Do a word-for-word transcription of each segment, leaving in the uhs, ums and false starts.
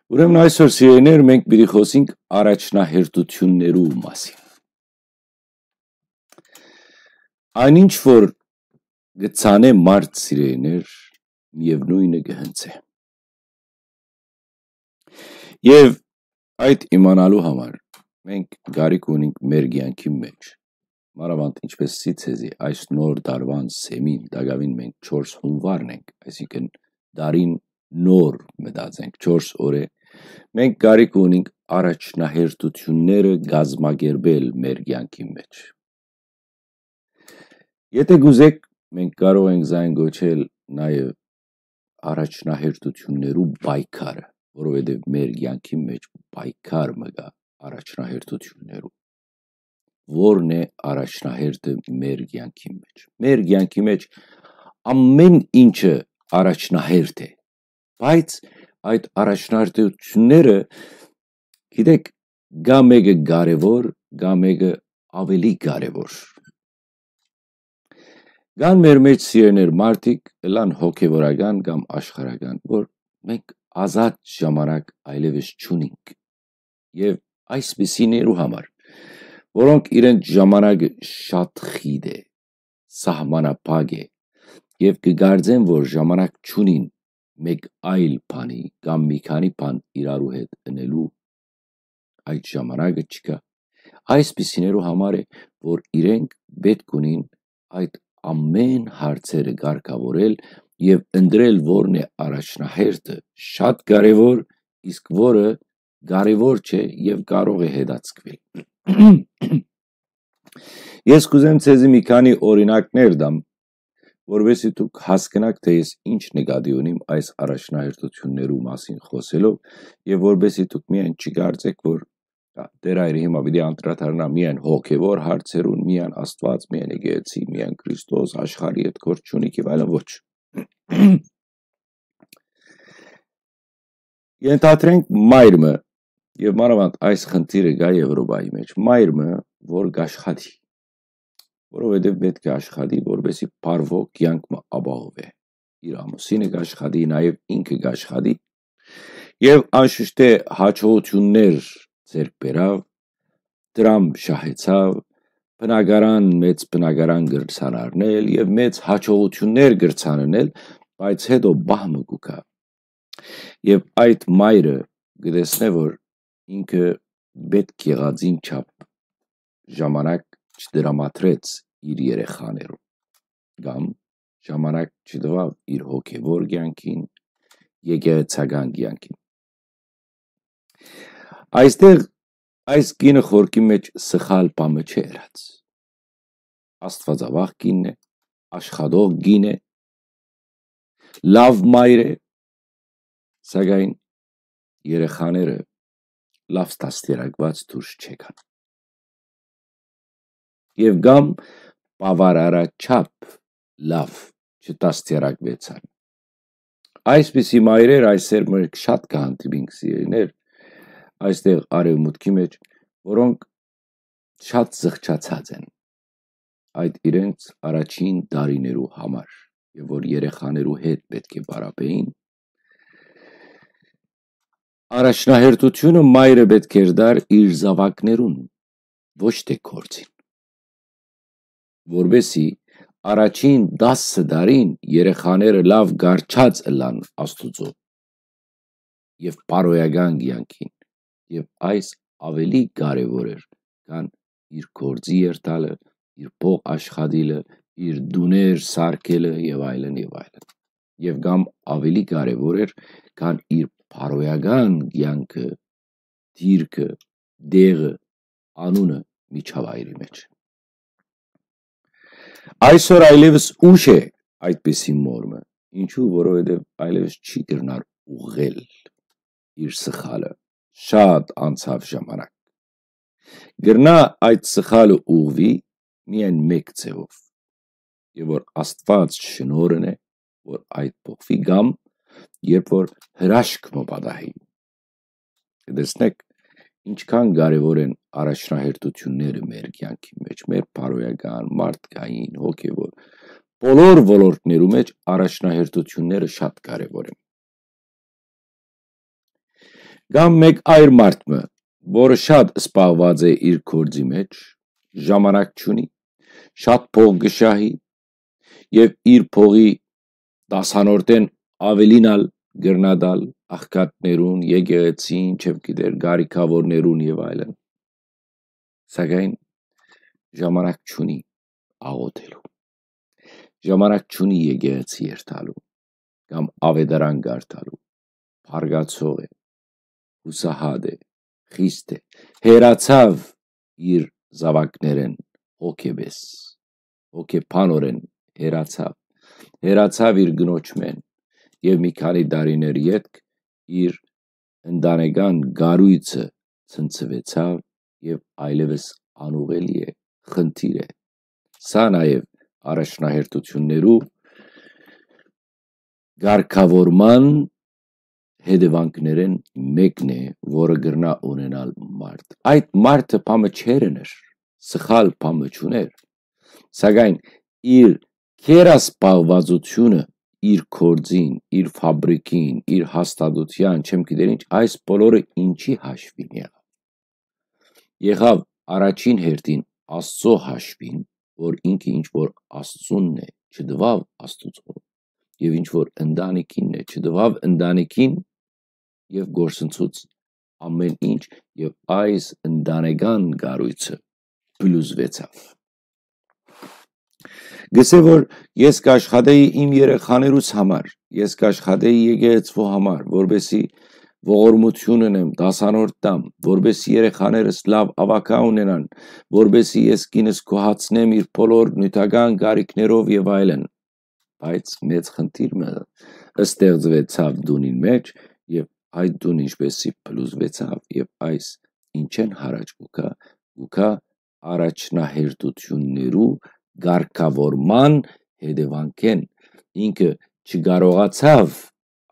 Ուրեմն այսօր, սիրելիներ, մենք պիտի խօսենք առաջնահերթութիւններու մասին։ Այն ինչ որ կը ցանէ մարդ, սիրելիներ, միեւնոյնը կը հնձէ։ Եւ այդ իմանալու համար մենք կարիք ունենք մեր կեանքին մէջ, մանաւանդ ինչպես սի ցեզի այս նոր դարուան սեմին, տակաւին մենք չորս հունուարն ենք, այսինքն դարին նոր մտած ենք, չորս օրը, մենք կարիք ունենք առաջնահերթութիւնները կազմակերպել մեր կեանքին մէջ։ Եթէ կուզէք, մենք կարող ենք զայն կոչել նաեւ առաջնահերթութիւններու պայքարը, որովհետեւ մեր կեանքին մէջ պայքար մը կայ առաջնահերթութիւններու։ Ո՞րն է առաջնահերթը մեր կեանքին մէջ։ Մեր կեանքի մէջ ամէն ինչը առաջնահերթ է, բայց այդ առաջնահերթութիւնները, գիտեք, գա մէկը կարեւոր, գա մէկը աւելի կարեւոր։ Կան մեր մէջ, սիրելիներ, մարդիկ, ըլլան հոգեվորական կամ աշխարհական, որ մենք ազատ ժամանակ այլեւս չունինք։ Եւ այսպիսիներու համար, որոնք իրենց ժամանակը շատ խիտ է, սահմանափակ է, եւ կը կարծեն, որ ժամանակ չունին մէկ այլ բանի կամ մի քանի բան իրարու հետ ընելու, այդ ժամանակը չկայ։ Այսպիսիներու համար է, որ իրենք պէտք ունին այդ ամէն հարցերը կարգաւորել եւ ընտրել, որն է առաջնահերթը շատ կարեւոր, իսկ որը կարեւոր չէ եւ կարող է հետաձգվել։ Ես կուզեմ ցեզի մի քանի օրինակներ տամ, որովհետեւ դուք հասկնաք, թէ ես ինչ նկատի ունիմ այս առաջնահերթութիւններու մասին խօսելով, եւ որովհետեւ դուք միայն չկարծեք, որ Տէր Հայրը հիմա պիտի անդրադառնայ միայն հոգեվոր հարցերուն, միայն Աստուած, միայն եկեղեցի, միայն Քրիստոս, աշխարհի հետ գործ չունի եւ այլն, ոչ։ Ենթադրենք մայր մը, եւ մանաւանդ այս խնդիրը կայ Եվրոպայի մէջ, մայր մը, որ կաշխատի, որովհետեւ պէտք է աշխատի, որպեսզի բարվոք կեանք մը ապահովէ։ Իր ամուսինը կաշխատի, նաեւ ինքը կաշխատի, եւ անշուշտ է յաջողութիւններ ձեռք բերաւ, դրամ շահեցաւ, բնակարան, մեծ բնակարան կրցան առնել եւ մեծ յաջողութիւններ կրցան ընել, բայց հետո պահ մը կու գայ։ Եւ այդ մայրը կը տեսնէ, որ ինքը պէտք եղածին չափ ժամանակ չդրամատրեց իր երեխաներուն, կամ ժամանակ չտուաւ իր հոգեվոր կեանքին, եկեղեցական կեանքին։ Այստեղ այս կինը խորքի մէջ սխալ բան մը չէ ըրած։ Աստուածավախ կինն է, աշխատող կին է, լաւ մայր է, սակայն երեխաները լաւ դաստիարակուած դուրս չեկան։ Եւ կամ բաւարարաչափ լաւ չդաստիարակուեցան։ Այսպիսի մայրեր այսեր մենք շատ կը հանդիպինք, սիրելիներ, այստեղ արեւմուտքի մէջ, որոնք շատ զղջացած են այդ իրենց առաջին տարիներու համար, եւ որ երեխաներու հետ պէտք է պարապեին, առաջնահերթութիւնը մայրը պէտք էր տար իր զաւակներուն, ոչ թէ գործին, որպեսզի առաջին տասը տարին երեխաները լաւ կառչած ըլլան Աստուծոյ եւ բարոյական կեանքին, եւ այս աւելի կարեւոր էր, քան իր գործի երթալը, իր փող աշխատիլը, իր տուներ սարքելը եւ այլն եւ այլն։ Եւ կամ աւելի կարեւոր էր, քան իր բարոյական կեանքը, դիրքը, դեղը, անունը միջավայրի մէջ։ Այսօր այլեւս ուշ է այդպիսի մոր մը, ինչու, որովհետեւ այլեւս չի կրնար ուղղել իր սխալը, շատ անցաւ ժամանակ։ Կրնայ այդ սխալը ուղղուի միայն մէկ ձեւով, եւ որ Աստուած շնորհն է, որ այդ փոխուի, կամ երբ որ հրաշք մը պատահի։ Կը տեսնէք, ինչքան կարեւոր են առաջնահերթութիւնները մեր կեանքի մէջ, մեր բարոյական, մարդկային, հոգեվոր, բոլոր ոլորտներու մէջ առաջնահերթութիւնները շատ կարեւոր են։ Կամ մէկ այր մարդ մը, որը շատ սպաղուած է իր գործի մեջ, ժամանակ չունի, շատ փող կը շահի եւ իր փողի տասանորդէն աւելին ալ կրնայ տալ աղքատներուն, եկեղեցին, չեմ գիտեր, կարիքաւորներուն եւ այլն։ Սակայն ժամանակ չունի աղօթելու։ Ժամանակ չունի եկեղեցի երթալու կամ աւետարան կարդալու։ Փառկացող է, յուսահատ է, խիստ է, հեռացաւ իր զաւակներէն հոգեպէս, հոգեբանօրէն հեռացաւ, հեռացաւ իր կնոջմէն եւ մի քանի տարիներ ետք իր ընտանեկան կառոյցը ցնցուեցաւ եւ այլեւս անուղելի է, խնդիր է։ Սա նաեւ առաջնահերթութիւններու կարգաւորման հետեւանքներէն մէկն է, որը կրնայ ունենալ մարդ։ Այդ մարդը բան մը չէր էներ, սխալ բան մը չուներ, սակայն իր գերասպաղվածութիւնը, իր գործին, իր ֆաբրիկին, իր հաստատութեան, չեմ գիտեր ինչ, այս բոլորը ինչի հաշվին եղաւ։ Եղաւ առաջին հերթին Աստծո հաշվին, որ ինքը ինչ որ Աստծունն է, չտուաւ Աստուծոյ, եւ ինչ որ ընտանիքինն է, չտուաւ ընտանիքին, եւ գործընծուց ամէն ինչ, եւ այս ընտանեկան կառոյցը փլուզուեցաւ։ Գսե որ ես կաշխատեի իմ երեխաներուս համար, ես կաշխատեի եկեղեցու համար, որպեսզի ողորմություն ունեմ, դասանորդ տամ, որպեսզի երեխաներս լաւ աւագա ունենան, որպեսզի ես կինս գոհացնեմ իր բոլոր նիւթական կարիքներով եւ այլն։ Բայց մեծ խնդիր մը ստեղծուեցաւ տունին մեջ, եւ այդ տուն ինչպեսի փլուզվեցաւ, եւ այս ինչեն յառաջ կու գայ, կու գայ առաջնահերթութիւններու կարգաւորման հետեւանքէն։ Ինքը չկարողացաւ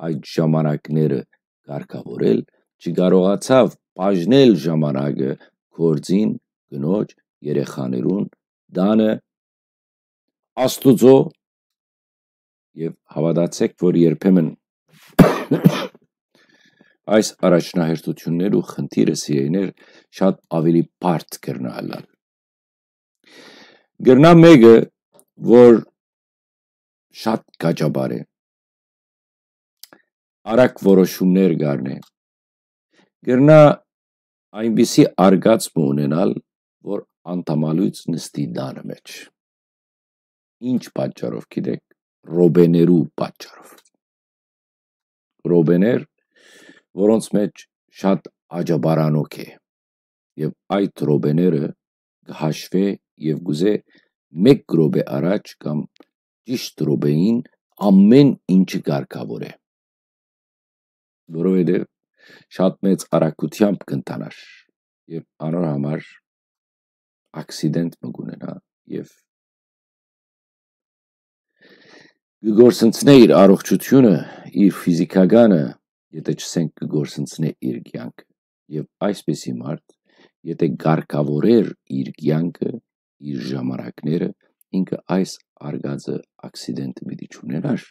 այդ ժամանակները կարգաւորել, չկարողացաւ բաժնել ժամանակը գործին, կնոջ, երեխաներուն, տանը, Աստուծոյ, եւ հաւատացէք, որ երբեմն այս առաջնահերթութիւններու խնդիրը, սիրելիներ, շատ աւելի բարդ կրնայ ըլլալ։ Կրնայ մէկը, որ շատ կաճապար է, արագ որոշումներ կ'առնէ, կրնայ այնպիսի արգած մը ունենալ, որ անդամալոյց նստի տանը մեջ։ Ինչ պատճառով գիտեք, ռոպեներու պատճառով։ Ռոպեներ, որոնց մեջ շատ աճապարանոք է, եւ այդ ռոպեները կը հաշուէ եւ կ'ուզէ մէկ ռոպէ առաջ կամ ճիշտ ռոպեին ամէն ինչը կարգաւոր է, որովհետեւ շատ մեծ արագութեամբ կ'ընթանար եւ անոր համար աքսիդենտ մը կ'ունենայ եւ կը գործընծնէ իր առողջութիւնը, իր ֆիզիքականը, եթէ չսենք կը գործընծնէ իր կեանքը։ Եւ այսպիսի մարդ, եթէ կարգաւորեր իր կեանքը, իր ժամանակները, ինքը այս արգածը աքսիդենտը պիտի չունենար։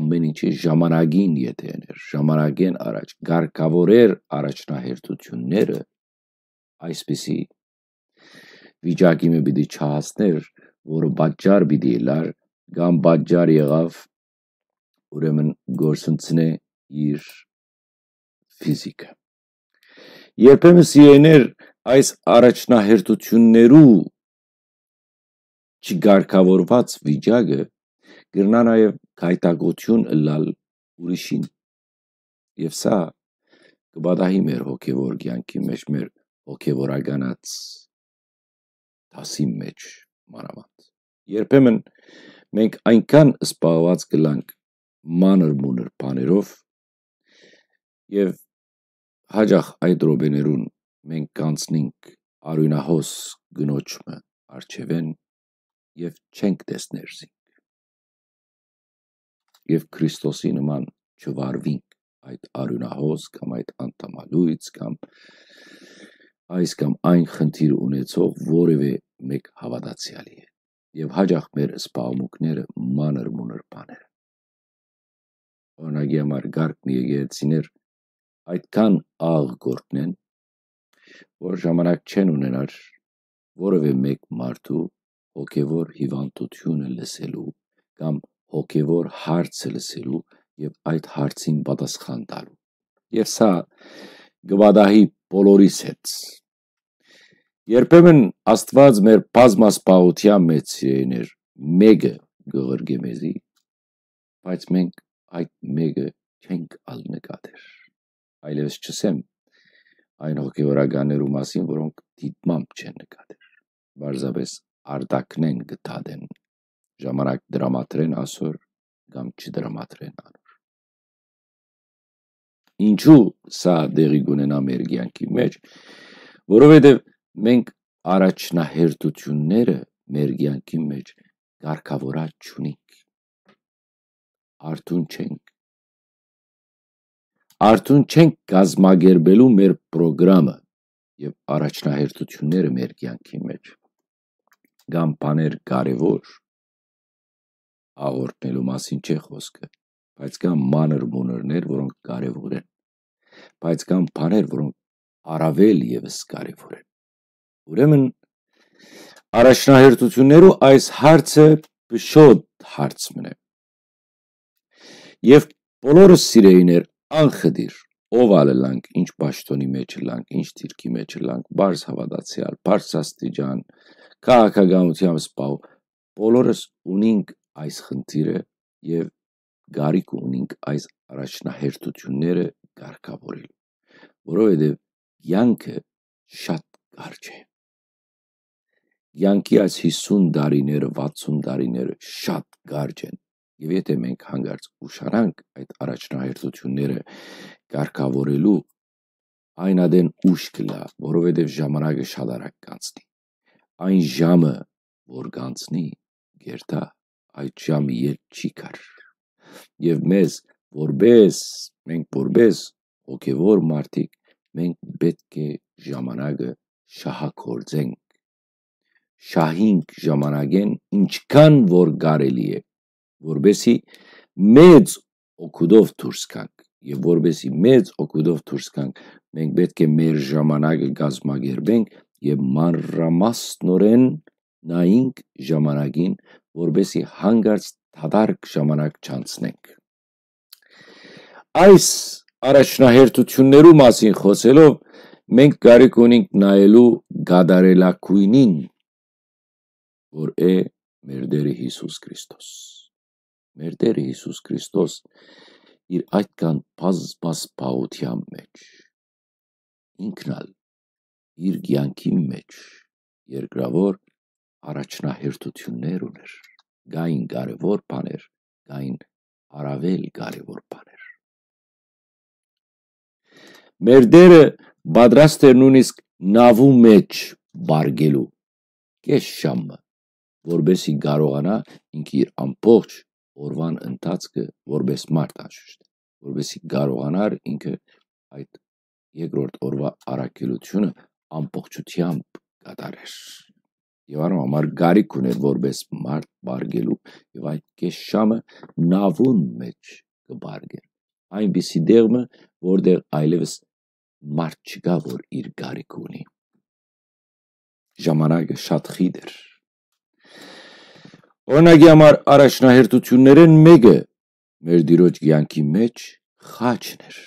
Ամէն ինչի ժամանակին եթէ էներ, ժամանակէն առաջ կարգաւորեր առաջնահերթութիւնները, այսպիսի վիճակի մը պիտի չհասներ, որը պատճառ պիտի ըլլար կամ պատճառ եղաւ, ուրեմն գործընծնէ իր ֆիզիկը։ Երբեմն, սիրելիներ, այս առաջնահերթութիւններու չկարգաւորուած վիճակը կրնայ նաեւ գայթակղութիւն ըլլալ ուրիշին։ Եւ սա կը պատահի մեր հոգեվոր կեանքի մեջ, մեր հոգեվորականաց դասին մեջ մանաւանդ։ Երբեմն մենք այնքան սպաղուած կ'ըլանք մանր-մունր բաներով եւ հաճախ այդ րոպեներուն մենք կանցնենք արիւնահոս կնոջ մը առջեւէն եւ չենք տեսներ զինք։ Եւ Քրիստոսի նման չվարվինք այդ արիւնահոս կամ այդ անդամալոյց կամ այս կամ այն խնդիր ունեցող որեւէ մէկ հաւատացեալի հետ։ Եւ հաճախ մեր սպաղմունքները մանր-մունր բաներ են։ Օրինակի համար, կարգ մը եկեղեցիներ այդքան աղ կորկնեն, որ ժամանակ չեն ունենար որևէ մէկ մարդու հոգեվոր հիվանդութիւնը լսելու կամ հոգեվոր հարցը լսելու եւ այդ հարցին պատասխան տալու։ Եւ սա կը պատահի բոլորիս հետ։ Երբեմն Աստուած մեր բազմազբաղութեան մեջ, սիրելիներ, մէկը կը ղրկէ մեզի, բայց մենք այդ մէկը չենք ալ նկատեր։ Այլեւս չըսեմ այն հոգեվորականներու մասին, որոնք դիտմամբ չեն նկատեր, պարզապէս արտակնեն կը դատեն, ժամանակ դրամատրեն ասոր կամ չդրամատրեն անոր։ Ինչու սա տեղի կունենայ մեր կեանքի մէջ, որովհետեւ մենք առաջնահերթութիւնները մեր կեանքի մէջ կարգաւորած չունինք։ Արթուն չենք։ Արթուն չենք կազմակերպելու մեր պրոգրամը եւ առաջնահերթութիւնները մեր կեանքի մէջ։ Կան բաներ կարեւոր, աղօթքելու մասին չէ խօսքը, բայց կան մանր մունրներ, որոնք կարեւոր են, բայց կան բաներ, որոնք առաւել եւս կարեւոր են։ Ուրեմն, առաջնահերթութիւններու այս հարցը փշոտ հարց մըն է։ Եւ բոլորս, սիրելիներ, անխտիր, ով ալ ըլանք, ինչ պաշտոնի մէջ ըլանք, ինչ դիրքի մէջ ըլանք, բարձ հաւատացեալ, բարձրաստիճան, քաղաքականութեամբ զբաղ, բոլորս ունինք այս խնդիրը եւ կարիք ունինք այս առաջնահերթութիւնները կարգաւորել, որովհետեւ կեանքը շատ կարճ է։ Կեանքի այս հիսուն տարիները, վաթսուն տարիները շատ կարճ են, եւ եթէ մենք հանկարծ ուշանանք այդ առաջնահերթութիւնները կարգաւորելու, այն ատեն ուշ կ'ըլլայ, որովհետեւ ժամանակը շատ արագ կանցնի։ Այն ժամը, որ կանցնի, կ'երթայ, այդ ժամը յետ չի գար։ Եւ մեզ որպես, մենք որպես հոգեվոր մարդիկ, մենք պէտք է ժամանակը շահագործենք, շահինք ժամանակէն ինչքան որ կարելի է, որպեսզի մեծ օգուտով դուրս գանք, եւ որպեսզի մեծ օգուտով դուրս գանք, մենք պէտք է մեր ժամանակը կազմակերպենք եւ մանրամասնորեն նայենք ժամանակին, որպեսզի հանկարծ դատարկ ժամանակ չանցնենք։ Այս առաջնահերթութիւններու մասին խօսելով, մենք կարիք ունենք նայելու կատարելագոյնին, որ է մեր Տէրը Յիսուս Քրիստոս։ Մեր Տէրը Յիսուս Քրիստոս իր այդքան բազմազբաղութեան մէջ, ինքն ալ իր կեանքի մէջ երկրաւոր առաջնահերթութիւններ ունէր, կային կարեւոր բաներ, կային առաւել կարեւոր բաներ։ Մեր Տէրը պատրաստ էր նոյնիսկ նաւու մէջ պառկելու կէս ժամը, որպեսզի կարողանայ ինքը իր ամբողջ օրուան ընթացքը որպես մարդ անշուշտ, որպեսզի կարողանար ինքը այդ երկրորդ օրուայ առաքելութիւնը ամբողջութեամբ կատարեր։ Եւ անոր համար կարիք ունէր որպես մարդ պառկելու եւ այդ կէս ժամը նաւուն մէջ կը պառկեր, այնպիսի տեղ մը, որտեղ այլեւս մարդ չկայ, որ իր կարիքը ունի։ Ժամանակը շատ խիտ էր։ Օրինակի համար, առաջնահերթութիւններէն մէկը մեր Տիրոջ կեանքի մէջ խաչն էր։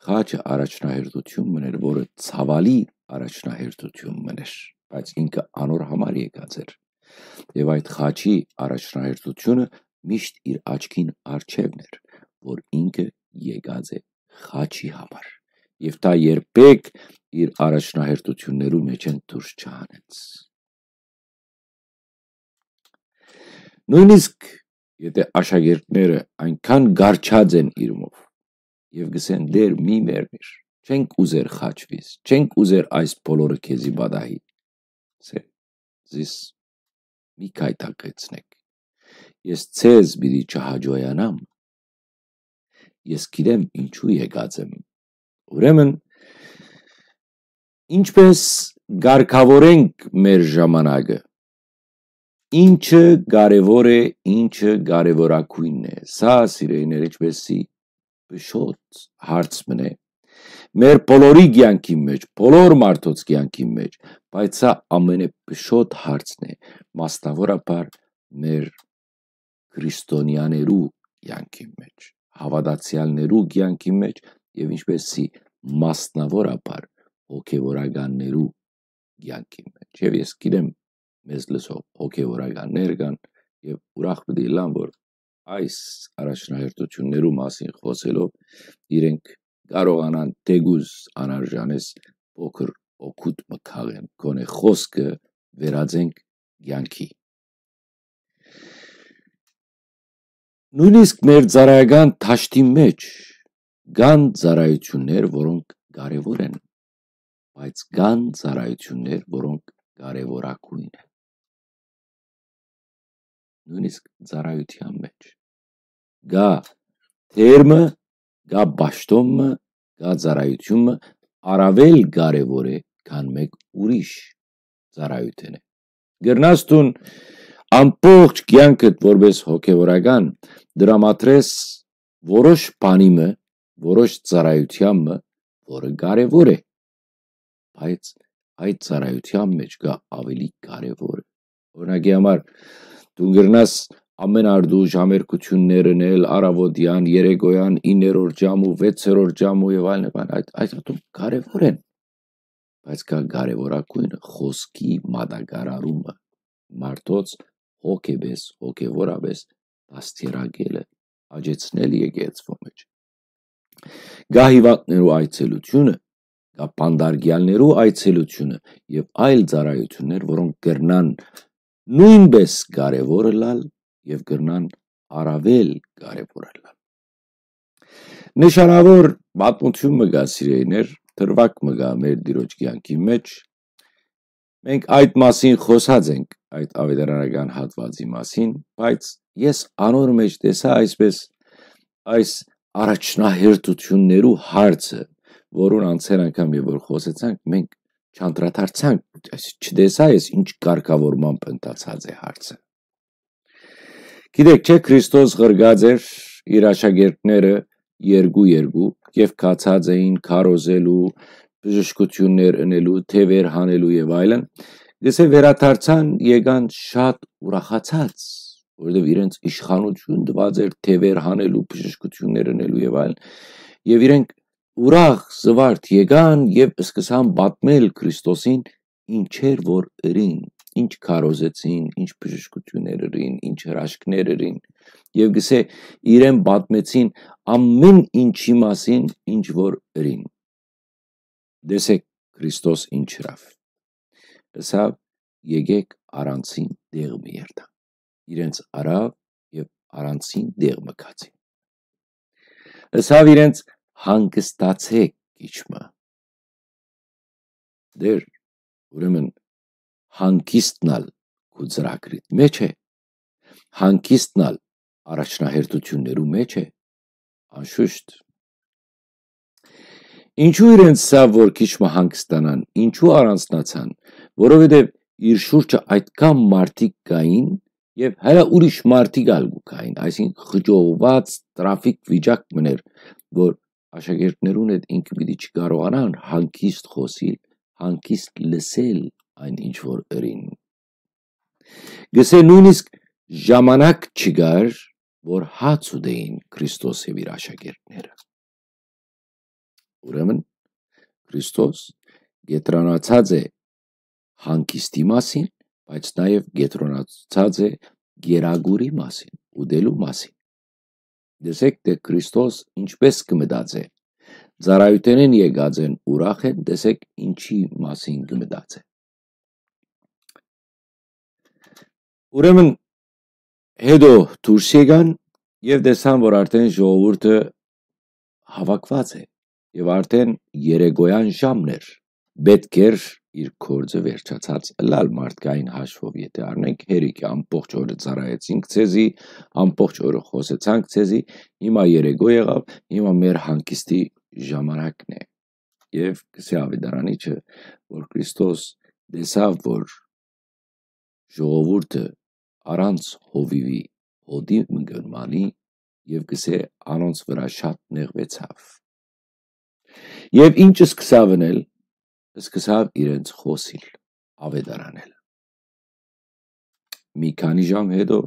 Խաչը առաջնահերթութիւն մըն էր, որը ցաւալի առաջնահերթութիւն մըն էր, բայց ինքը անոր համար եկած էր։ Եւ այդ խաչի առաջնահերթութիւնը միշտ իր աչքին առջեւն էր, որ ինքը եկած է խաչի համար։ Եւ դա երբեք իր առաջնահերթութիւններու մէջէն դուրս չհանեց։ Նոյնիսկ եթէ աշակերտները այնքան գարչած են իրմով եւ գսեն. «Տէր, մի մեռնիր, չենք ուզեր խաչվիս, չենք ուզեր այս բոլորը քեզի պատահի», ասէ, «Զիս մի գայթակղեցնէք, ես ձեզ պիտի չհաճոյանամ, ես գիտեմ ինչու եկած եմ»։ Ուրեմն, ինչպէս կարգաւորենք մեր ժամանակը, ինչը կարեւոր է, ինչը կարեւորագոյնն է, սա, սիրելիներ, ինչպէս սի փշոտ հարց մըն է, մեր բոլորի կեանքին մէջ, բոլոր մարդոց կեանքին մէջ, բայց սա ամենէ փշոտ հարցն է, մասնաւորաբար մեր քրիստոնեաներու կեանքին մէջ, հաւատացեալներու կեանքին մէջ եւ ինչպէս սի մասնաւորաբար հոգեվորականներու կեանքին մէջ։ Եւ ես գիտեմ, մեզ լսող հոգեվորականներ կան եւ ուրախ պիտի ըլլան, որ այս առաջնահերթություններու մասին խօսելով իրենք կարողանան թէկուզ անարժանես փոքր օգուտ մը քաղեն, գոնե խօսքը վերածենք կեանքի։ Նոյնիսկ մեր ծառայական դաշտին մէջ կան ծառայութիւններ, որոնք կարեւոր են, բայց կան ծառայութիւններ, որոնք կարեւորագոյն են։ Նոյնիսկ ծառայութեան մէջ կայ դեր մը, կայ պաշտօն մը, կայ ծառայութիւն մը առաւել կարեւոր է, քան մէկ ուրիշ ծառայութենէ։ Կրնաս դուն ամբողջ կեանքդ որպէս հոգեվորական դրամատրես որոշ բանի մը, որոշ ծառայութեան մը, որը կարեւոր է, բայց այդ ծառայութեան մէջ կայ աւելի կարեւոր։ Օրինակի համար, դու կրնաս ամէն արտուժ համերգութիւններ ընել առաւօտեան, երեկոյեան, իններորդ ժամ ու վեցերորդ ժամ ու եւ այլն, եւ այլն, այդ, այդ ատում կարեւոր են, բայց կայ կարեւորագոյնը՝ խօսքի մատակարարումը, մարդոց հոգեպէս, հոգեվորապէս դաստիարակելը, աճեցնել եկեղեցւոյ մէջ։ Կայ հիւանդներու այցելութիւնը, կայ բանտարկեալներու այցելութիւնը եւ այլ ծառայութիւններ, որոնք կրնան նոյնպէս կարեւոր ըլլալ եւ կրնան առաւել կարեւոր ըլլալ։ Նշանաւոր պատմութիւն մը կայ, սիրելիներ, դրուագ մը կայ մեր Տիրոջ կեանքին մէջ։ Մենք այդ մասին խօսած ենք, այդ աւետարանական հատուածի մասին, բայց ես անոր մէջ տեսայ այսպէս այս առաջնահերթութիւններու հարցը, որուն անցեր անգամ եւ որ խօսեցանք, մենք չանդրադարձանք, այս չտեսայ ես ինչ կարգաւորմամբ ընթացած է հարցը։ Գիտեք չէ, Քրիստոս ղրկած էր իր աշակերտները երկու-երկու եւ գացած էին քարոզելու, բժշկութիւններ ընելու, թեւեր հանելու եւ այլն, գսե վերադարձան, եկան շատ ուրախացած, որովհետեւ իրենց իշխանութիւն տուած էր թեւեր հանելու, բժշկութիւններ ընելու եւ այլն, եւ իրենք ուրախ զուարթ եկան եւ սկսան պատմել Քրիստոսին ինչեր որ ըրին, ինչ քարոզեցին, ինչ բժշկութիւններ ըրին, ինչ հրաշքներ ըրին, եւ գսե իրեն պատմեցին ամէն ինչի մասին, ինչ որ ըրին։ Տեսեք Քրիստոս ինչ ըրաւ։ Ըսաւ. «Եկեք առանցին տեղ մը երթանք»։ Իրենց առաւ եւ առանցին տեղ մը գացին։ Ըսաւ իրենց. «Հանգստացէք քիչ մը»։ Դեր, ուրեմն հանգիստն ալ քու ծրագրիդ մէջ է, հանգիստն ալ առաջնահերթութիւններու մէջ է, անշուշտ։ Ինչու իրենց սա, որ քիչ մը հանգստանան, ինչու առանձնացան, որովհետեւ իր շուրջը այդքան մարդիկ կային եւ հələ ուրիշ մարդիկ ալ կու կային, այսինքն խճողված տրաֆիկ վիճակ մներ, որ աշակերտներուն հետ ինքը պիտի չկարողանան հանգիստ խօսիլ, հանգիստ լսել այն ինչ որ ըրին։ Գսե նույնիսկ ժամանակ չկար, որ հաց ուտեին Քրիստոս եւ իր աշակերտները։ Ուրեմն Քրիստոս կետրոնացած է հանգիստի մասին, բայց նաեւ կետրոնացած է գերագուրի մասին, ուտելու մասին։ Տեսեք, թէ Քրիստոս ինչպես կը մտածէ։ Ծառայութենէն եկած են, ուրախ են, տեսեք ինչի մասին կը մտածէ։ Ուրեմն հետո դուրս եկան եւ տեսան, որ արդեն ժողովուրդը հաւաքուած է եւ արդեն երեկոյան ժամն էր։ Պէտք էր իր գործը վերջացած ըլլալ մարդկային հաշվով, եթե առնենք հերիքը, ամբողջ օրը ծառայեցինք ձեզի, ամբողջ օրը խօսեցանք ձեզի, հիմա երեկո եղաւ, հիմա մեր հանգիստի ժամանակն է։ Եւ գսե աւետարանիչը, որ Քրիստոս տեսաւ, որ ժողովուրդը առանց հովիւի հոտի մը կը մնայ, եւ գսե անոնց վրայ շատ նեղուեցաւ։ Եւ ինչ սկսաւ ընել, սկսաւ իրենց խօսիլ, աւետարանել։ Մի քանի ժամ յետոյ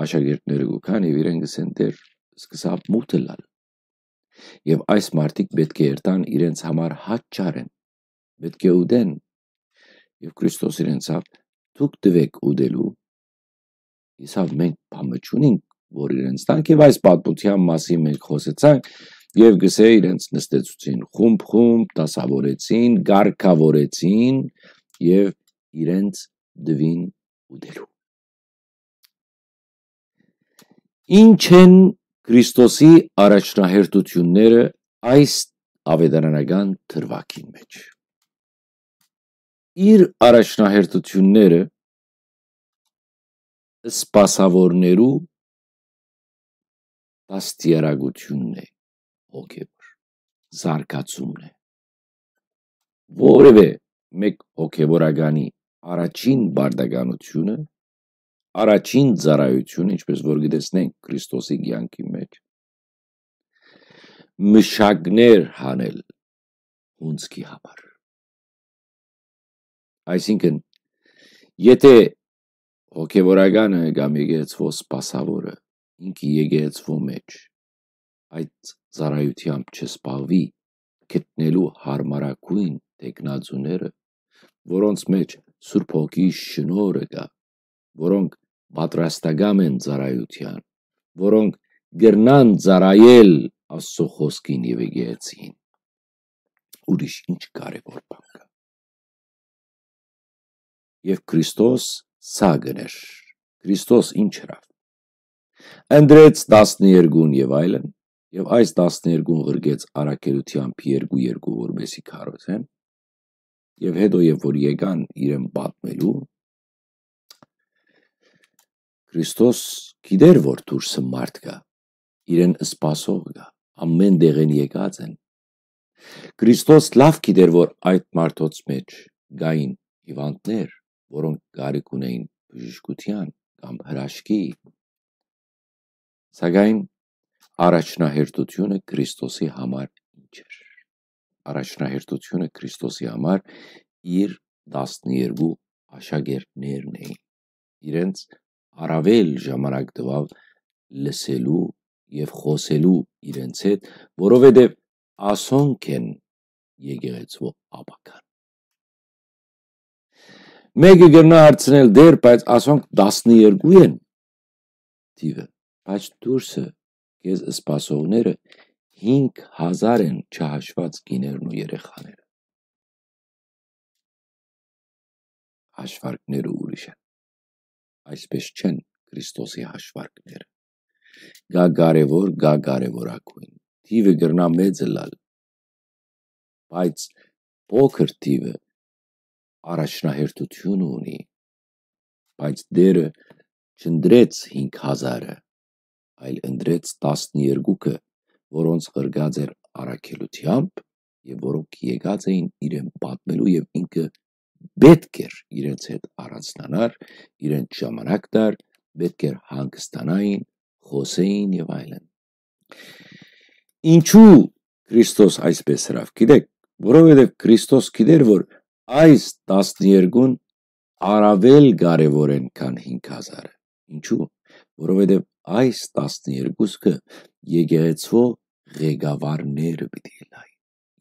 աշակերտները կու գան եւ իրեն կ'ըսեն. «Տէր, սկսաւ մութ ըլլալ։ Եւ այս մարդիկ պէտք է երթան իրենց համար հաճարեն, պէտք է ուտեն»։ Եւ Քրիստոս իրենց ըսաւ. «Դուք տուէք ուտելու»։ Ըսաւ. «Մենք բան մը չունինք, որ իրենց տանք»։ Եւ այս պատմութեան մասին մենք խօսեցանք, եւ կ'ըսէ, իրենց նստեցուցին խումբ-խումբ, դասաւորեցին, կարգաւորեցին եւ իրենց տուին ուտելու։ Ինչ են Քրիստոսի առաջնահերթութիւնները այս աւետարանական դրուագին մէջ։ Իր առաջնահերթութիւնները սպասաւորներու դաստիարակութիւնն է, հոգեւոր զարգացումն է։ Որևէ մէկ հոգեւորականի առաջին պարտականութիւնը, առաջին ծառայութիւնը, ինչպէս որ կը տեսնենք Քրիստոսի կեանքի մէջ, մշակներ հանել հունձքի համար։ Այսինքն, եթե հոգեվորականը կամ եկեղեցւոյ սպասաւորը ինքը եկեղեցւոյ մէջ այդ ծառայութեամբ չզբաղուի, գտնելու յարմարագոյն թեկնածուները, որոնց մէջ Սուրբ Հոգի շնորհը կայ, որոնք պատրաստակամ են ծառայութեան, որոնք կրնան ծառայել Աստուծոյ խօսքին եւ եկեղեցին, ուրիշ ինչ կարեւոր բան կայ։ Եւ Քրիստոս սա կ'ընէր։ Քրիստոս ինչ ըրաւ։ Ընտրեց տասներկուն եւ այլն, եւ այս տասներկուն ղրկեց առաքելութեամբ երկու-երկու, որպեսզի քարոզեն, եւ յետոյ, երբ որ եկան իրեն պատմելու, Քրիստոս գիտէր, որ դուրսը մարդ կայ, իրեն սպասող կայ, ամէն տեղէն եկած են։ Քրիստոս լաւ գիտէր, որ այդ մարդոց մէջ կային հիւանդներ, որոնք կարիք ունէին բժշկութեան կամ հրաշքի։ Սակայն առաջնահերթութիւնը Քրիստոսի համար ինչ էր։ Առաջնահերթութիւնը Քրիստոսի համար իր տասներկու աշակերտներն էին։ Իրենց առաւել ժամանակ տուաւ լսելու եւ խօսելու իրենց հետ, որովհետեւ ասոնք են եկեղեցւոյ ապագան։ Մէկը կրնայ հարցնել. «Տէր, բայց ասոնք տասներկու են թիւը, բայց դուրսը քեզ սպասողները հինգ հազար են, չհաշուած կիներն ու երեխաները»։ Հաշվարկները ուրիշ են։ Այսպէս չեն Քրիստոսի հաշվարկները։ Կայ կարեւոր, կայ կարեւորագոյն։ Թիւը կրնայ մեծ ըլլալ, բայց փոքր թիւը առաջնահերթութիւն ունի, բայց Տէրը չընտրեց հինգ հազարը, այլ ընտրեց տասներկուքը, որոնց ղրկած էր առաքելութեամբ եւ որոնք եկած էին իրեն պատմելու, եւ ինքը պէտք էր իրենց հետ առանձնանար, իրենց ժամանակ տար, պէտք էր հանգստանային, խօսեին եւ այլն։ Ինչու Քրիստոս այսպէս ըրաւ, գիտէք, որովհետեւ Քրիստոս գիտէր, որ այս տասներկուն առաւել կարեւոր են, քան հինգ հազարը։ Ինչու՞։ Որովհետեւ այս տասներկուսքը եկեղեցւոյ ղեկավարները պիտի ըլլային,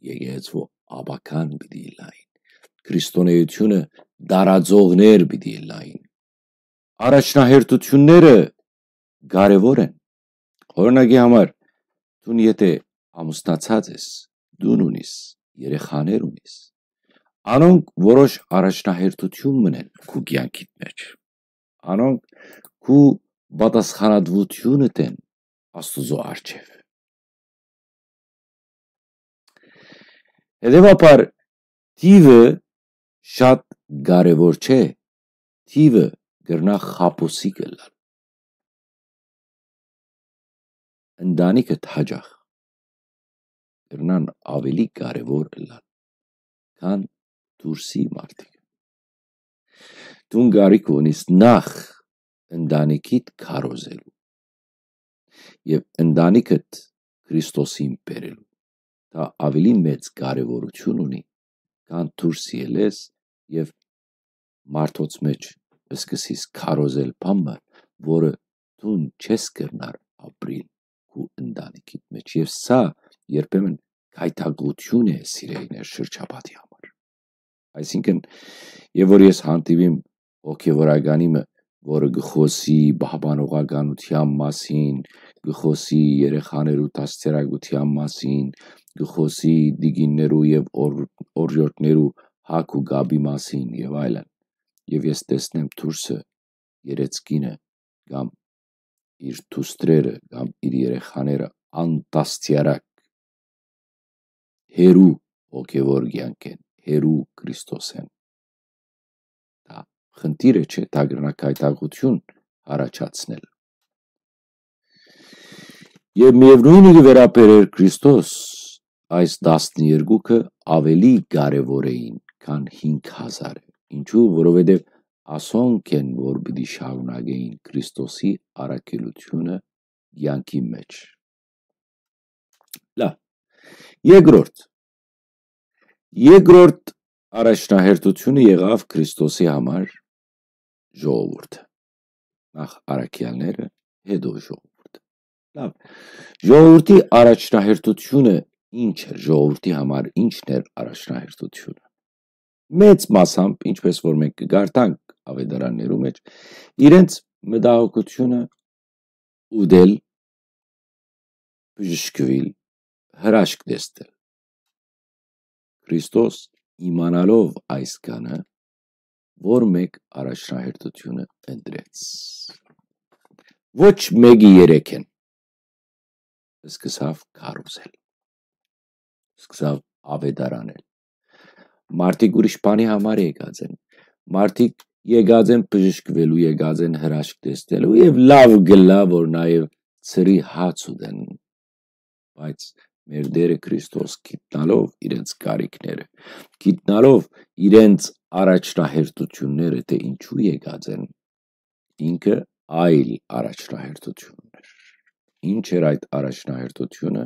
եկեղեցւոյ ապագան պիտի ըլլային, քրիստոնէութիւնը տարածողներ պիտի ըլլային։ Առաջնահերթութիւնները կարեւոր են։ Օրինակի համար, դուն եթե ամուսնացած ես, տուն ունիս, երեխաներ ունիս, անոնք որոշ առաջնահերթութիւն մըն են քու կեանքիդ մէջ։ Անոնք քու պատասխանատվութիւնդ են Աստուծոյ առջեւ։ Հետեւաբար, թիւը շատ կարեւոր չէ, թիւը կրնայ խաբուսիկ ըլլալ։ Ընտանիքդ հաճախ կրնան աւելի կարեւոր ըլլալ, քան դուրսի մարդիկ։ Դուն կարիք ունիս նախ ընտանիքիդ քարոզելու եւ ընտանիքդ Քրիստոսին բերելու, թա աւելի մեծ կարեւորութիւն ունի, քան դուրս ելես եւ մարդոց մէջ սկսես քարոզել բան մը, որը դուն չես կրնար ապրիլ քու ընտանիքիդ մէջ։ Եւ սա երբեմն գայթակղութիւն է սիրելիներ շրջապատի համար։ Այսինքն, եւ որ ես հանդիպիմ հոգեվորականի մը, որը կը խօսի պահպանողականութեան մասին, կը խօսի երեխաներու դաստիարակութեան մասին, կը խօսի տիկիններու եւ օր-, օրիորդներու հակ ու կապի մասին եւ այլն։ Եւ ես տեսնեմ դուրսը երեցկինը կամ իր դուստրերը կամ իր երեխաները անդաստիարակ հերու հոգեվոր կեանքէն, հերու Քրիստոսէն։ Դա խնդիրը չէ, դա կրնայ գայթակղութիւն առաջացնել։ Եւ միեւնոյնը կը վերաբերէր Քրիստոս, այս տասներկուքը աւելի կարեւոր էին, քան հինգ հազարը։ Ինչու՞, որովհետեւ ասոնք են, որ պիտի շարունակեին Քրիստոսի առաքելութիւնը կեանքի մէջ։ Լա, երկրորդ, երկրորդ առաջնահերթութիւնը եղաւ Քրիստոսի համար ժողովուրդը։ Նախ առաքեալները, հետո ժողովուրդը։ Լավ, ժողովրդի առաջնահերթութիւնը ինչ էր, ժողովրդի համար ինչն էր առաջնահերթութիւնը։ Մեծ մասամբ, ինչպես որ մենք կգարտանք ավետարաններու մեջ, իրենց մտահոգութիւնը ուտել, բժշկուիլ, հրաշք տեսնել։ Քրիստոս, իմանալով այս կանը, որ մեկ առաջնահերթութիւնը ընտրեց։ Ոչ մէկի երեքէն սկսաւ քարոզել, սկսաւ ավետարանել։ Մարդիկ ուրիշ բանի համար եկած են։ Մարդիկ եկած են բժշկուելու, եկած են հրաշք տեսնելու եւ լաւ գլա, որ նաեւ ծրի հաց ուտեն։ Բայց մեր Տերը Քրիստոս գիտնալով իրենց կարիքները, գիտնալով իրենց առաջնահերթութիւնները, թէ ինչու եկած են, ինքը այլ առաջնահերթութիւն ուներ։ Ինչ էր այդ առաջնահերթութիւնը։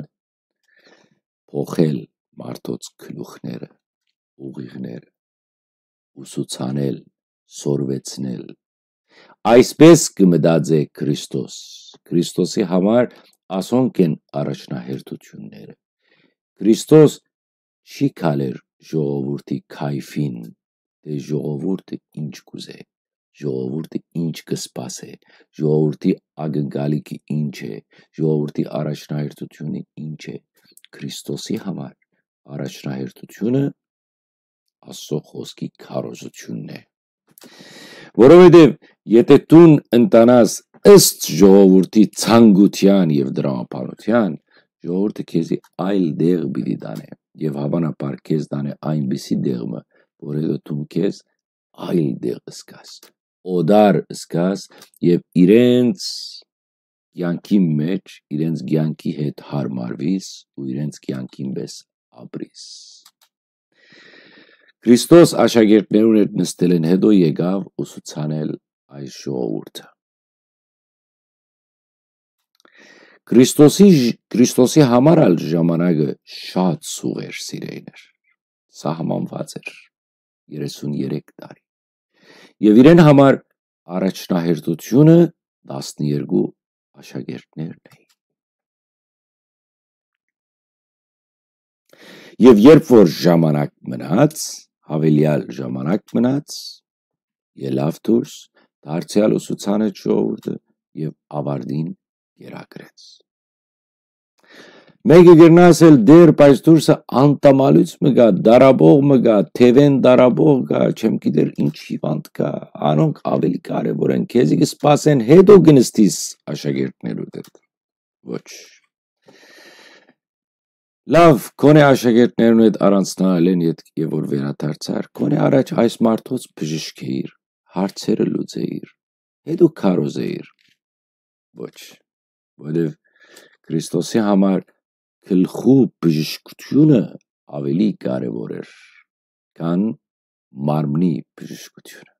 Փոխել մարդոց գլուխները, ուղիղները, ուսուցանել, սորվեցնել։ Այսպես կը մտածէ Քրիստոս։ Քրիստոսի համար ասոնք են առաջնահերթութիւնները։ Քրիստոս չի քալեր ժողովուրդի քայֆին, թէ ժողովուրդը ինչ կ'ուզէ, ժողովուրդը ինչ կը սպասէ, ժողովուրդի ակնկալիքը ինչ է, ժողովուրդի առաջնահերթութիւնը ինչ է։ Քրիստոսի համար առաջնահերթութիւնը Աստծո խօսքի քարոզութիւնն է։ Որովհետեւ եթէ դուն ընտանաս ըստ ժողովուրդի ցանկութեան եւ դրամաբանութեան, ժողովուրդը քեզի այլ տեղ պիտի տանէ եւ հաւանաբար քեզ տանէ այնպիսի տեղ մը, որ հետո դուն քեզ այլ տեղ զգաս, օտար զգաս եւ իրենց կեանքի մէջ, իրենց կեանքի հետ յարմարվիս ու իրենց կեանքին պէս ապրիս։ Քրիստոս աշակերտներուն հետ նստելէն հետո եկաւ ուսուցանել այս ժողովուրդը։ Քրիստոսի, Քրիստոսի համար ալ ժամանակը շատ սուղ էր, սիրելիներ, սահմանուած էր, երեսուն երեք տարի։ Եւ իրեն համար առաջնահերթութիւնը տասներկու աշակերտներն էին։ Եւ երբ որ ժամանակ մնաց, յաւելեալ ժամանակ մնաց, ելաւ դուրս, դարձեալ ուսուցանեց ժողովուրդը եւ աւարտին կերակրեց։ Մեկը կրնայ ասել, դեռ, բայց դուրսը անտամալոյց մը կայ, դարաբող մը կայ, թեւեն դարաբող կայ, չեմ գիտեր ինչ հիվանդ կայ, անոնք աւելի կարեւոր են, քեզի կը սպասեն, հետո կը նստիս աշակերտներուդ հետ։ Ոչ։ Լավ, քոնէ աշակերտներուն հետ առանձնանալէն ետք եւ որ վերադարձար, քոնէ առաջ այս մարդոց բժիշկ էիր, հարցերը լուծեիր, հետո քարոզեիր։ Ոչ, որովհետեւ Քրիստոսի համար գլխու բժշկութիւնը աւելի կարեւոր էր, քան մարմնի բժշկութիւնը։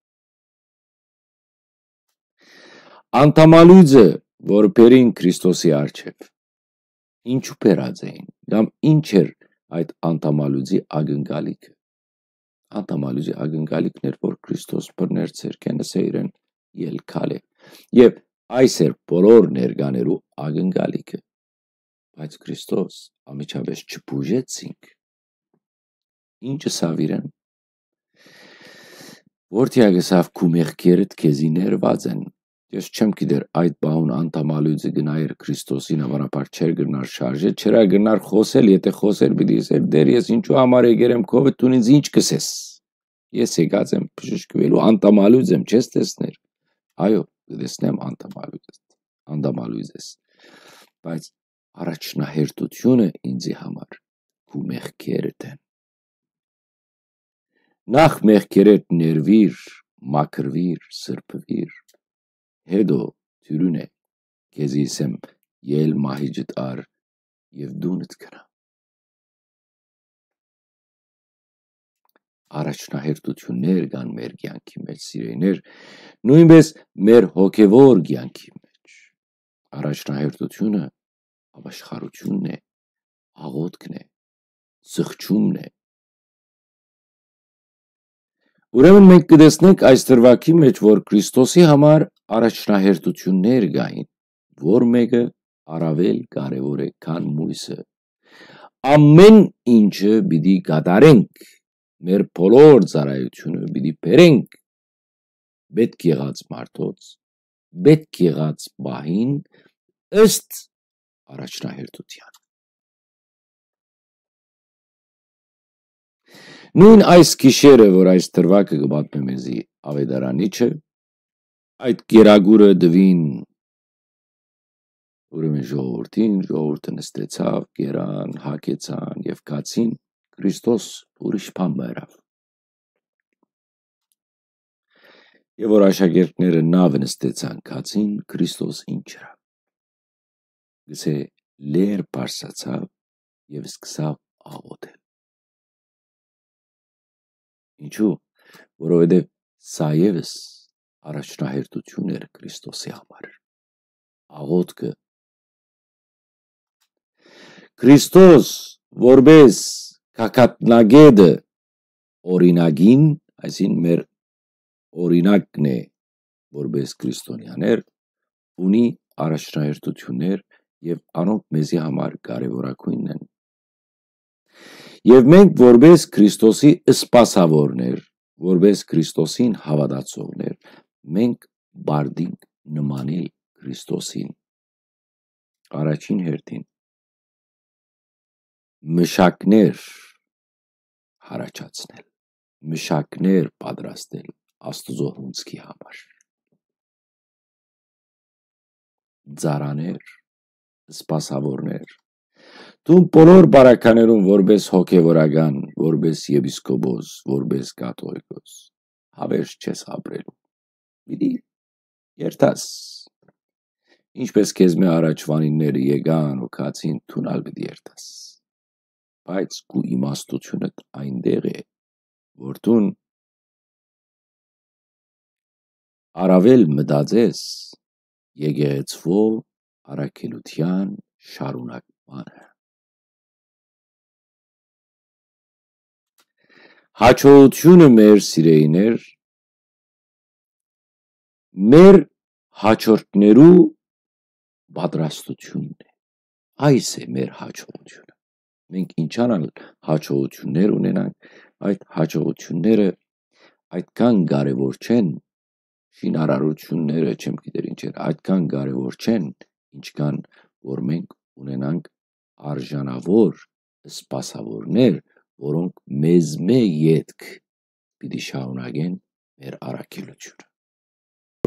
Անտամալույցը, որ բերին Քրիստոսի առջեւ, ինչու բերած էին, կամ ինչ էր այդ անդամալուծի ակնկալիքը։ Անդամալուծի ակնկալիքն էր, որ Քրիստոս բռներ ձեռքէն, ըսէ իրեն. «Ելքալ է»։ Եւ այս էր բոլոր ներկաներու ակնկալիքը։ Բայց Քրիստոս անմիջապէս չբուժեց ինք։ Ինչ ըսաւ իրեն։ Որդեակ ըսաւ. «Քու մեղքերդ քեզի ներուած են»։ Ես չեմ գիտեր, այդ պահուն անդամալույցը գնայր Քրիստոսին, հովանաբար չէր կրնար շարժել, չէր ալ կրնար խօսել, եթէ խօսեր, պիտի ըսէր. «Տէր, ես ինչու համար եկեր եմ քովդ, դուն ինձ ինչ կ'ըսես։ Ես եկած եմ բժշկուելու, անդամալույց եմ, չես տեսներ»։ Այո, կը տեսնեմ անդամալույց, անդամալույց ես, բայց առաջնահերթությունը ինձի համար քու մեղքերդ են։ Նախ մեղքերդ ներուիր, մաքրուիր, սրբուիր, հետո դիւրին է, քեզի ըսեմ, ել մահիճդ առ եւ դունդ գնա։ Առաջնահերթութիւններ կան մեր կեանքի մէջ, սիրելիներ, նոյնպէս մեր հոգեւոր կեանքի մէջ։ Առաջնահերթութիւնը ապաշխարութիւնն է, աղօթքն է, զղջումն է։ Ուրեմն մենք կը տեսնենք այս դրուագի մէջ, որ Քրիստոսի համար առաջնահերթութիւններ կային, որ մէկը առաւել կարեւոր է, քան մոյսը։ Ամէն ինչը պիտի կատարենք, մեր բոլոր ծառայութիւնը պիտի բերենք պէտք եղած մարդոց, պէտք եղած պահին, ըստ առաջնահերթութեան։ Նոյն այս գիշերը, որ այս դրուագը կը պատմէ մեզի աւետարանիչը, այդ կերակուրը տուին ուրեմն ժողովուրդին, ժողովուրդը նստեցաւ, կերան, հագեցան եւ գացին, Քրիստոս ուրիշ բան մը ըրաւ։ Եւ որ աշակերտները նաւը նստեցան, գացին, Քրիստոս ինչ ըրաւ։ Գսէ, լեր բարձրացաւ եւ սկսաւ աղօթել։ Ինչու՞, որովհետեւ սա եւս առաջնահերթութիւն էր Քրիստոսի համար։ Աղօթքը։ Քրիստոս որպէս գագաթնակէտը օրինակին, այսինքն մեր օրինակն է որպէս քրիստոնեաներ, ունի առաջնահերթութիւններ եւ անոնք մեզի համար կարեւորագոյնն են։ Եւ մենք որպէս Քրիստոսի սպասաւորներ, որպէս Քրիստոսին հաւատացողներ, մենք պարտինք նմանիլ Քրիստոսին։ Առաջին հերթին, մշակներ յառաջացնել, մշակներ պատրաստել Աստուծոյ հունձքի համար։ Ծառաներ, սպասաւորներ, դուն բոլոր բարականերուն որպէս հոգեվորական, որպէս եպիսկոպոս, որպէս կաթողիկոս, հաւերժ չես ապրելու։ Պիտի երթաս։ Ինչպէս քեզմէ առաջուանինները եկան ու գացին, դուն ալ պիտի երթաս։ Բայց քու իմաստութիւնդ այնտեղ է, որ դուն առաւել մտածես եկեղեցւոյ առաքելութեան շարունակմանը։ Յաջողութիւնը մեր, սիրելիներ, մեր յաջորդներու պատրաստութիւնն է։ Այս է մեր յաջողութիւնը։ Մենք ինչքան ալ յաջողութիւններ ունենանք, այդ յաջողութիւնները այդքան կարեւոր չեն, շինարարութիւնները, չեմ գիտեր ինչ էր, այդքան կարեւոր չեն, ինչքան որ մենք ունենանք արժանաւոր սպասաւորներ, որոնք մեզմէ ետք պիտի շարունակեն մեր առաքելութիւնը։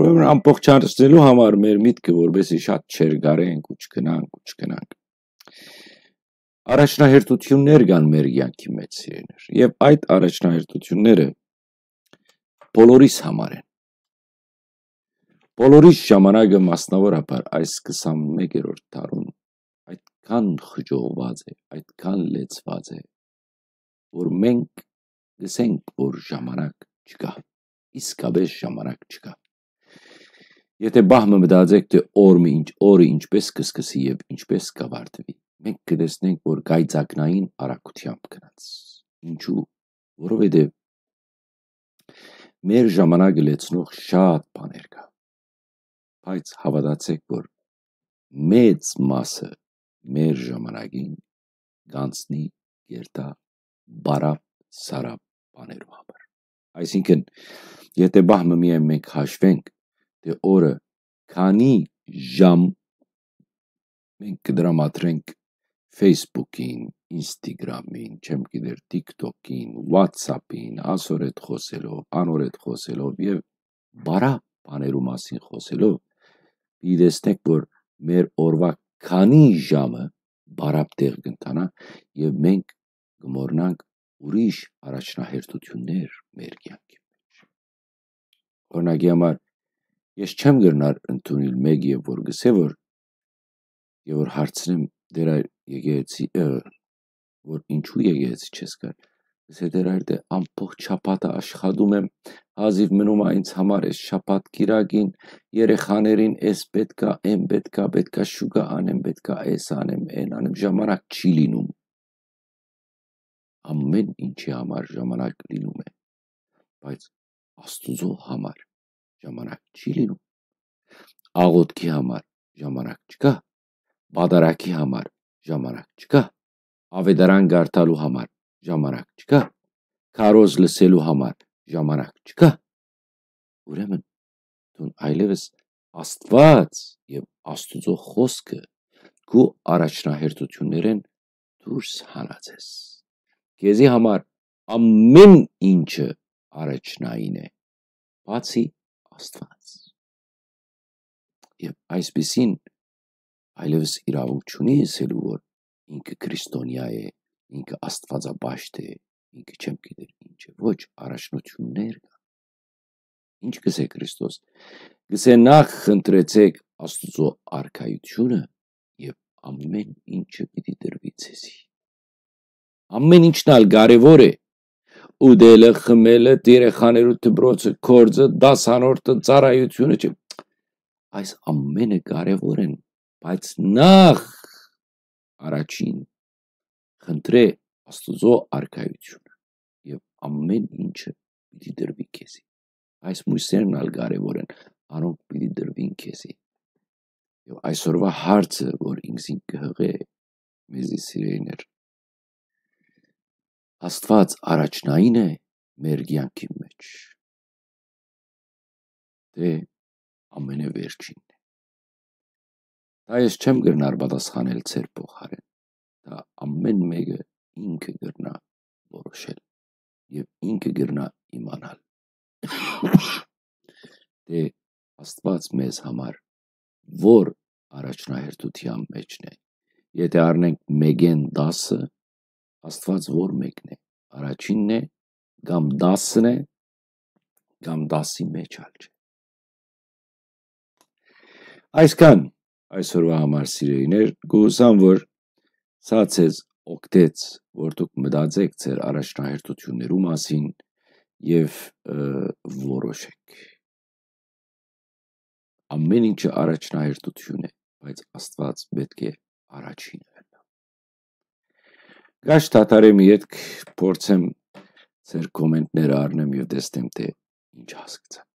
Ուրեմն ամբողջացնելու համար մեր միտքը, որպեսզի շատ չերկարենք ու չգնանք ու չգնանք, առաջնահերթութիւններ կան մեր կեանքի մէջ, սիրելիներ, եւ այդ առաջնահերթութիւնները բոլորիս համար են։ Բոլորիս ժամանակը, մասնաւորաբար այս քսանմեկերորդ դարուն, այդքան խճողուած է, այդքան լեցուած է, որ մենք կ'ըսենք, որ ժամանակ չկայ, իսկապէս ժամանակ չկայ։ Եթէ պահ մը մտածեք, թէ օր մը ինչ, օրը ինչպէս կը սկսի եւ ինչպէս կ'ավարտուի, մենք կը տեսնենք, որ կայծակնային արագութեամբ գնաց։ Ինչու՞։ Որովհետեւ մեր ժամանակը լեցնող շատ բաներ կա, բայց հաւատացէք, որ մեծ մասը մեր ժամանակին կանցնի, կերթայ բարապ սարապ բաներու համար։ Այսինքն, եթե պահ մը միայն մենք հաշվենք, թէ օրը քանի ժամ մենք կը դրամատրենք Facebook-ին, Instagram-ին, չեմ գիտեր, TikTok-ին, WhatsApp-ին, ասոր հետ խօսելով, անոր հետ խօսելով եւ բարապ բաներու մասին խօսելով, պիտի տեսնենք, որ մեր օրուայ քանի ժամը բարապ տեղ կ'ընթանայ եւ մենք կը մոռնանք ուրիշ առաջնահերթութիւններ մեր կեանքի մէջ։ Օրինակի համար, ես չեմ կրնար ընդունել մէկը, որ գսէ, որ, եւ որ հարցնեմ, դեր այր եկեղեցի, ը, որ ինչու եկեղեցի չես գար, գսէ, դեր այր, դե ամբողջ շաբաթը աշխատում եմ, հազիւ մնում ա ինձ համար էս շաբաթ կիրակին, երեխաներին էս պէտք ա, էն պէտք ա, պէտք ա շուկա անեմ, պէտք ա էս անեմ, էն անեմ, ժամանակ չի լինում։ Ամեն ինչի համար ժամանակ լինում է, բայց Աստուծոյ համար ժամանակ չի լինում։ Աղօթքի համար ժամանակ չկա, պատարագի համար ժամանակ չկա, աւետարան կարդալու համար ժամանակ չկա, քարոզ լսելու համար ժամանակ չկա։ Ուրեմն, դուն այլեւս Աստուած եւ Աստուծոյ խօսքը քու առաջնահերթութիւններէն դուրս հանած ես։ Քեզի համար ամեն ինչը առաջնային է, բացի Աստուած։ Եւ այսպիսին այլեւս իրաւունք չունի ըսելու, որ ինքը քրիստոնեայ է, ինքը աստուածապաշտ է, ինքը չեմ գիտեր ինչ է։ Ոչ, առաջնություններ կան։ Ինչ կսէ Քրիստոս։ Կսէ, նախ խնդրեցէք Աստուծոյ արքայութիւնը, եւ ամեն ինչը պիտի տրուի ձեզի։ Ամեն ինչն ալ կարեւոր է։ Ուտելը, խմելը, երեխաներու դպրոցը, գործը, դասանորդը, ծառայությունը, չէ։ Այս ամենը կարեւոր են, բայց նախ առաջին խնդրէ Աստուծոյ արքայութիւնը, եւ ամեն ինչը պիտի տրուի քեզի։ Այս մոյսերն ալ կարեւոր են, անոնք պիտի տրուին քեզի։ Եւ այսօրուայ հարցը, որ ինքզին կը յղէ մեզի, սիրելիներ, Աստուած առաջնային է մեր կեանքի մէջ, թէ ամենեվերջինն է։ Դա ես չեմ կրնար պատասխանել ձեր փոխարէն։ Դա ամեն մէկը ինքը կրնայ որոշել եւ ինքը կրնայ իմանալ, թէ Աստուած մեզ համար որ առաջնահերթութեան մէջն է։ Եթե առնենք մէկէն տասը, Աստուած որ մէկն է, առաջինն է, կամ տասն է, կամ տասի մէջ ալ չէ։ Այսքան այսօրուայ համար, սիրելիներ, կ'ուսամ, որ սա ձեզ օգնեց, որ դուք մտածեք ձեր առաջնահերթութիւններու մասին եւ, ը, որոշեք։ Ամեն ինչը առաջնահերթութիւն է, բայց Աստուած պէտք է առաջինը ըլլայ։ Գաչ թաթարեմ ետք, փորձեմ ձեր կոմենտները առնեմ եւ տեսնեմ, թէ ինչ հասկցան։